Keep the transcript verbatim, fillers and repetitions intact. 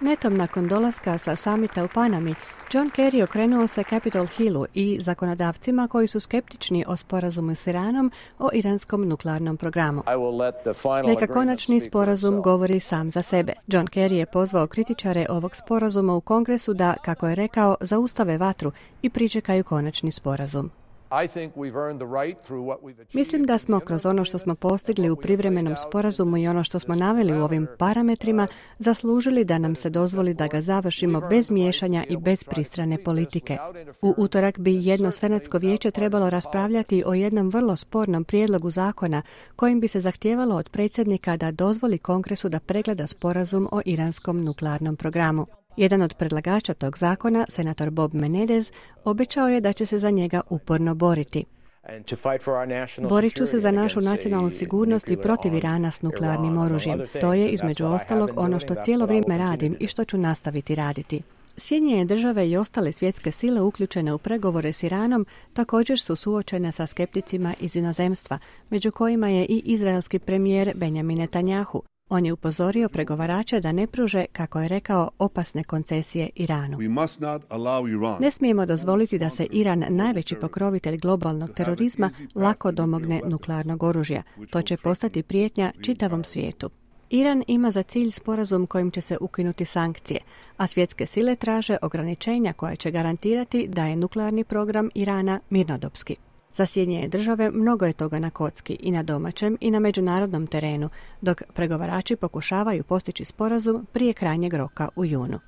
Netom nakon dolaska sa samita u Panami, John Kerry okrenuo se Capitol Hillu i zakonodavcima koji su skeptični o sporazumu s Iranom o iranskom nuklearnom programu. Neka konačni sporazum govori sam za sebe. John Kerry je pozvao kritičare ovog sporazuma u Kongresu da, kako je rekao, zaustave vatru i pričekaju konačni sporazum. Mislim da smo kroz ono što smo postigli u privremenom sporazumu i ono što smo naveli u ovim parametrima zaslužili da nam se dozvoli da ga završimo bez miješanja i bez pristrane politike. U utorak bi jedno senatsko vijeće trebalo raspravljati o jednom vrlo spornom prijedlogu zakona kojim bi se zahtijevalo od predsjednika da dozvoli Kongresu da pregleda sporazum o iranskom nuklearnom programu. Jedan od predlagača tog zakona, senator Bob Menendez, obećao je da će se za njega uporno boriti. Borit ću se za našu nacionalnu sigurnost i protiv Irana s nuklearnim oružjem. To je, između ostalog, ono što cijelo vrijeme radim i što ću nastaviti raditi. Sjedinjene države i ostale svjetske sile uključene u pregovore s Iranom također su suočene sa skepticima iz inozemstva, među kojima je i izraelski premijer Benjamin Netanjahu. On je upozorio pregovarače da ne pruže, kako je rekao, opasne koncesije Iranu. Ne smijemo dozvoliti da se Iran, najveći pokrovitelj globalnog terorizma, lako domogne nuklearnog oružja. To će postati prijetnja čitavom svijetu. Iran ima za cilj sporazum kojim će se ukinuti sankcije, a svjetske sile traže ograničenja koja će garantirati da je nuklearni program Irana mirnodopski. Za Sjedinjene države mnogo je toga na kocki i na domaćem i na međunarodnom terenu, dok pregovarači pokušavaju postići sporazum prije krajnjeg roka u junu.